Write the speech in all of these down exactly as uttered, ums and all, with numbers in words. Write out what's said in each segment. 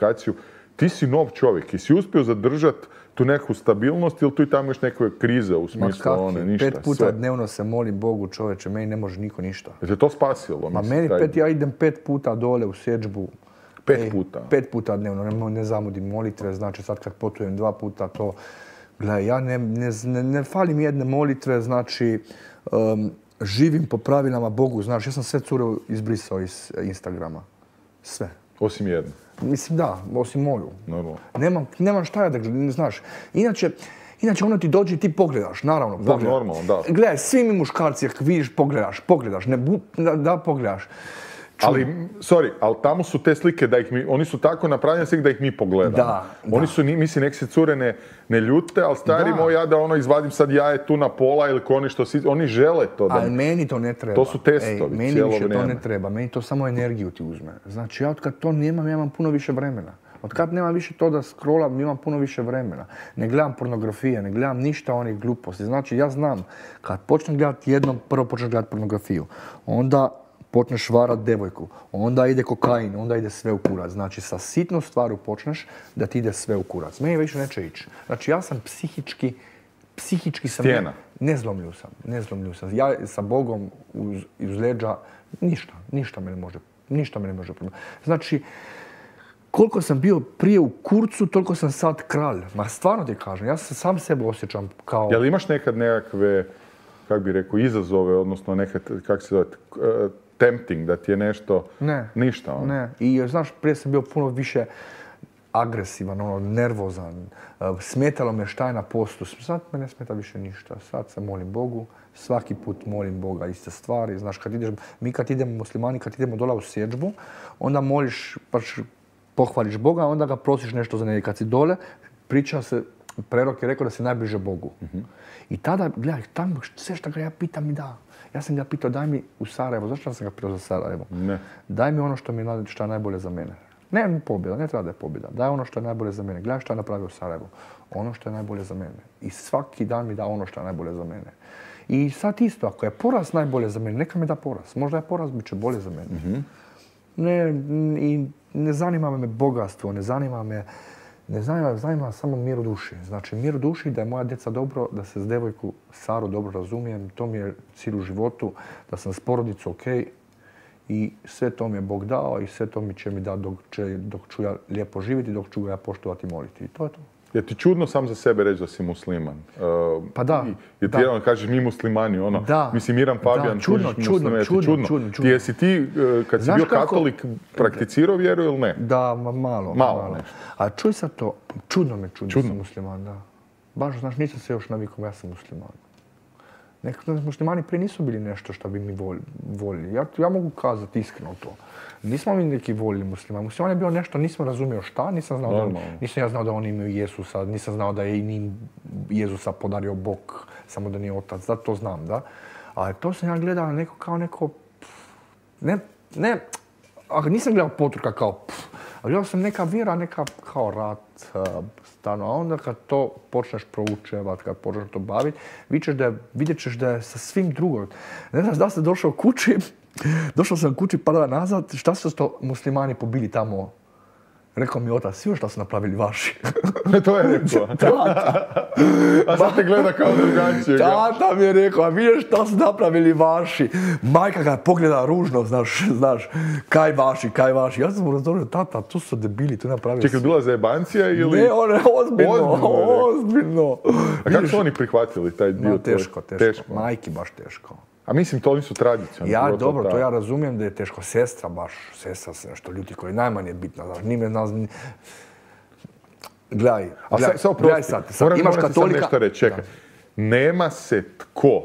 komunikaciju. Ti si nov čovjek i si uspio zadržati tu neku stabilnost ili tu i tamo još neke krize u smislu one, ništa, pet puta sve. dnevno se molim Bogu, čovječe, meni ne može niko ništa. Je te to spasilo? Ma mislim, meni taj... pet, ja idem pet puta dole u sjedžbu. Pet Ej, puta? Pet puta dnevno, ne, ne zamudim molitve, znači sad kad putujem dva puta to... Gledaj, ja ne, ne, ne, ne falim jedne molitve, znači um, živim po pravilama Bogu, znaš, ja sam sve cure izbrisao iz Instagrama. Sve. Osim jedne? Mislim da, osim moju. Normalno. Nemam, nemam šta ja da gledam, znaš. Inače, inače ono ti dođe i ti pogledaš, naravno, Da, pogledaš. normalno, da. Gledaj, svi mi muškarci, ako vidiš, pogledaš, pogledaš, ne, bu, da, da pogledaš. Čuj. Ali, sorry, ali tamo su te slike da ih mi, oni su tako napravljene slike da ih mi pogledamo. Da, Oni da. su, ni- mislim, nek se cure ne, ne ljute, ali stari Da. moj, ja da ono izvadim sad jaje tu na pola ili ko oni što si, oni žele to da... Ali meni to ne treba. To su testovi Ej, meni cijelo više to vrijeme. ne treba, meni to samo energiju ti uzme. Znači ja od kad to nemam, ja imam puno više vremena. Od kad nemam više to da scrollam, imam puno više vremena. Ne gledam pornografije, ne gledam ništa onih gluposti. Znači ja znam, kad počnem gledati jednom, prvo počneš gledati pornografiju. Onda počneš varat devojku, onda ide kokain, onda ide sve u kurac. Znači sa sitnom stvaru počneš da ti ide sve u kurac. Meni više neće ići. Znači ja sam psihički, psihički sam... Stijena. Ne zlomljiv sam, ne zlomljiv sam. Ja sa Bogom uz, uz leđa, ništa, ništa me ne može, ništa me ne može promijeniti. Znači, koliko sam bio prije u kurcu, toliko sam sad kralj. Ma stvarno ti kažem, ja se sam sebe osjećam kao... Jel imaš nekad nekakve, kak bi rekao, izazove, odnosno nekad, kak se zove, uh, tempting, da ti je nešto... Ne. Ništa, ono? Ne. I znaš, prije sam bio puno više agresivan, ono, nervozan. Smetalo me šta je na postu. Sad me ne smeta više ništa. Sad se molim Bogu. Svaki put molim Boga iste stvari. Znaš, kad ideš, mi kad idemo muslimani, kad idemo dole u sjedžbu, onda moliš, baš pohvališ Boga, onda ga prosiš nešto za njega. Kad si dole, priča se, prerok je rekao da si najbliže Bogu. Uh-huh. I tada, gledaj, tamo sve što ga ja pitam mi da. Ja sam ga pitao, daj mi u Sarajevo. Zašto sam ga pitao za Sarajevo? Ne. Daj mi ono što mi je, što je najbolje za mene. Ne pobjeda, ne treba da je pobjeda. Daj ono što je najbolje za mene. Gledaj što je napravio u Sarajevu. Ono što je najbolje za mene. I svaki dan mi da ono što je najbolje za mene. I sad isto, ako je poraz najbolje za mene, neka mi da poraz. Možda je poraz, bit će bolje za mene. Mm-hmm. Ne, i ne zanima me bogatstvo, ne zanima me, ne zanima, zanima me samo mir u duši. Znači, mir u duši, da je moja djeca dobro, da se s devojku Saru dobro razumijem, to mi je cilj u životu, da sam s porodicom okej. I sve to mi je Bog dao i sve to mi će mi dati dok, će, dok ću ja lijepo živjeti, dok ću ga ja poštovati i moliti. I to je to. Je ti čudno sam za sebe reći da si musliman? Uh, Pa da. Jer ti da. jedan kažeš mi muslimani, ono, Da. mislim Miran Fabijan, da, čudno, tužiš čudno, muslime, čudno, čudno. čudno, čudno. Ti jesi ti, uh, kad si Znaš bio kako? katolik, prakticirao vjeru ili ne? Da, ma, malo. Malo, malo. nešto. A čuj sad to, čudno me čudno, Čudno. sam musliman, da. Baš, znaš, nisam se još navikao, ja sam musliman. Nekako muslimani prije nisu bili nešto što bi mi voljeli. Ja, ja mogu kazati iskreno to. Nismo mi neki voljeli muslimani. Musliman je bio nešto, nisam razumio šta, nisam znao da, on, nisam ja znao da oni imaju Jezusa, nisam znao da je i njim Jezusa podario Bog, samo da nije otac, da to znam, da. Ali to sam ja gledao neko kao neko, ne, ne, nisam gledao Poturka kao pff, a gledao sam neka vjera, neka kao rat, stano. A onda kad to počneš proučevati, kad počneš to baviti, vidjet ćeš da je sa svim drugom. Ne znaš da sam došao kući, došao sam kući par dana nazad, šta su to muslimani pobili tamo? Rekao mi otac, svi šta su napravili vaši. To je rekao. Tata. A sad te gleda kao drugačije. Tata mi je rekao, a vidiš šta su napravili vaši. Majka ga pogleda ružno, znaš, znaš, kaj vaši, kaj vaši. Ja sam mu razorio, tata, tu su debili, tu napravili. Čekaj, bila zajebancija ili... Ne, on je ozbiljno, ozbiljno. ozbiljno. A kako su oni prihvatili taj dio? Ma, teško, teško, teško. Majki baš teško. A mislim, to oni su tradicionalni. Ja, dobro, to ja razumijem da je teško. Sestra baš, sestra se nešto ljuti koji je najmanje bitna. Znaš, nime nas... Gledaj, gledaj, sad, gledaj sad. sad moram, imaš moram katolika... Sad nešto reći, čekaj. Da. Nema se tko,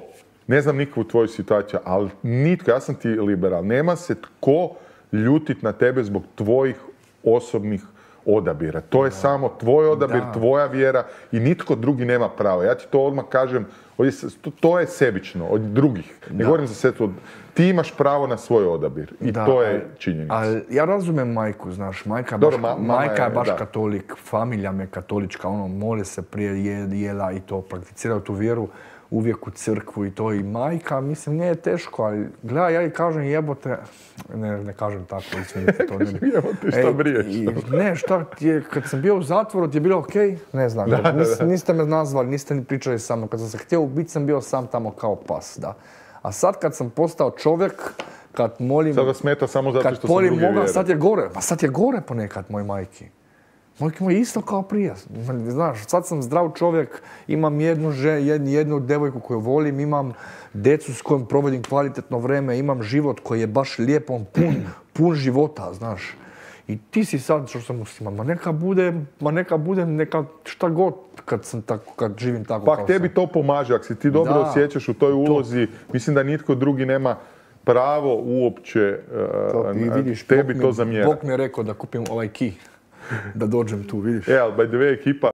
ne znam niko u tvojoj situaciji, ali nitko, ja sam ti liberal, nema se tko ljutit na tebe zbog tvojih osobnih odabira. To je da. samo tvoj odabir, da. tvoja vjera i nitko drugi nema pravo. Ja ti to odmah kažem, to je sebično od drugih. Ne da. govorim za sestru. Ti imaš pravo na svoj odabir i da, to je činjenica. Ali ja razumijem majku, znaš, majka, Dobro, baš, ma, majka je, je baš da. katolik, familija me katolička, ono, mole se prije jela i to, prakticiraju tu vjeru. uvijek u crkvu i to i majka, mislim, nije teško, ali gledaj, ja i kažem jebote, ne, ne kažem tako, izvinite to. Ne, jebote, šta briješ? Ne, šta ti je, kad sam bio u zatvoru, ti je bilo okej? Okay? Ne znam, da, nis, niste me nazvali, niste ni pričali sa mnom, kad sam se htio ubiti, sam bio sam tamo kao pas, da. A sad kad sam postao čovjek, kad molim... Sad vas smeta samo zato što sam drugi vjere. Sad je gore, pa sad je gore ponekad, moj majki. Majke moj isto kao prije. Znaš, sad sam zdrav čovjek, imam jednu, jednu, jednu devojku koju volim, imam decu s kojom provodim kvalitetno vrijeme, imam život koji je baš lijep, on pun, pun života, znaš. I ti si sad, što sam musliman, ma neka bude, ma neka bude, neka šta god kad sam tako, kad živim tako pa kao tebi sam. to pomaže, ako si ti dobro da, osjećaš u toj ulozi, to. Mislim da nitko drugi nema pravo uopće to, uh, vidiš, tebi mi, to zamjerati. Bog mi je rekao da kupim ovaj key, da dođem tu, vidiš. E, ali by the way, ekipa,